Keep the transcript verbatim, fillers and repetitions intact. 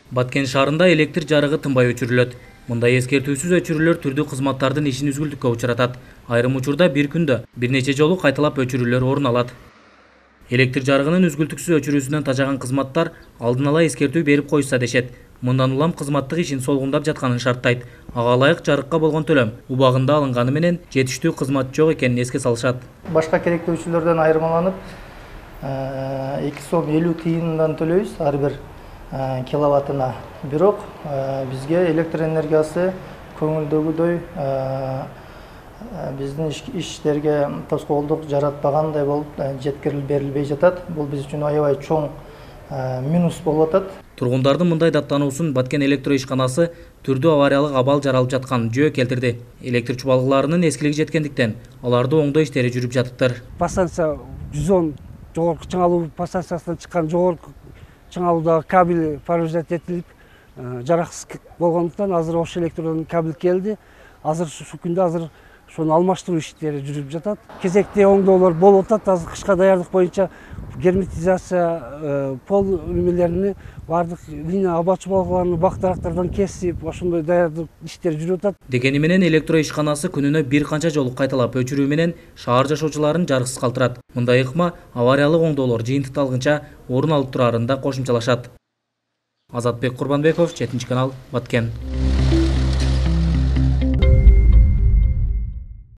Баткен шаарында электр жарыгы тынбай өчүрүлөт. Мындай эскертүүсүз өчүрүүлөр түрдүү кызматтардын ишин үзгүлтүккө учуратат. Айрым учурда бир күндө бир нече жолу кайталап өчүрүүлөр орун алат. Электр жарыгынын үзгүлтүксүз өчүрүүсүнөн тажаган кызматтар алдын ала эскертүү берип коюшса дешет. Мындан улам кызматтык ишин солгундап жатканын шарттайт. Ага ылайык жарыкка болгон төлөм убагында алынганы менен жетиштүү кызмат жок экенин эске салышат. Башка керектөөчүлөрдөн айырмаланып, эки сом элүү тыйындан төлөйбүз ар бир киловаттына. Бирок бизге электр энергиясы көңүлдөгүдөй биздин иштерге тоскоолдук жаратпагандай болуп жеткирилип берилбей жатат. Бул биз үчүн аябай чоң минус болуп атат. Тургундардын мындай даттануусун Баткен электро ишканасы түрдүү авариялык абал жаралып жаткан жөө келтирди. Электр чубалгыларынын эскилиги жеткендиктен аларды оңдоо иштери жүрүп жатыптыр. Постанция жүз он жогорку чыңалуу постанциясынан чыккан жогорку чыңалуудагы кабель повреждать этилип, жараксыз болгондуктан азыр ош электрден кабель келди. Азыр ушул күндө азыр ошону алмаштыруу иштери жүрүп жатат. Кезекте оңдоолор болуп атат. Азыр кышка даярдык боюнча герметизация, пол үймөлөрүнү бардык линия аба чубалгыларын бак-дарактардан кесип, ошондой даярдык иштери жүрүп атат. Дегени менен электро ишканасы күнүнө бир канча жолу кайталап өчүрүү менен шаар жашоочуларын жарыксыз калтырат. Мындай ыкма авариялык оңдоолор жыйынтыкталгынча орун алып турарын да кошумчалашат. Азатбек Курбанбеков, жетинчи канал, Баткен.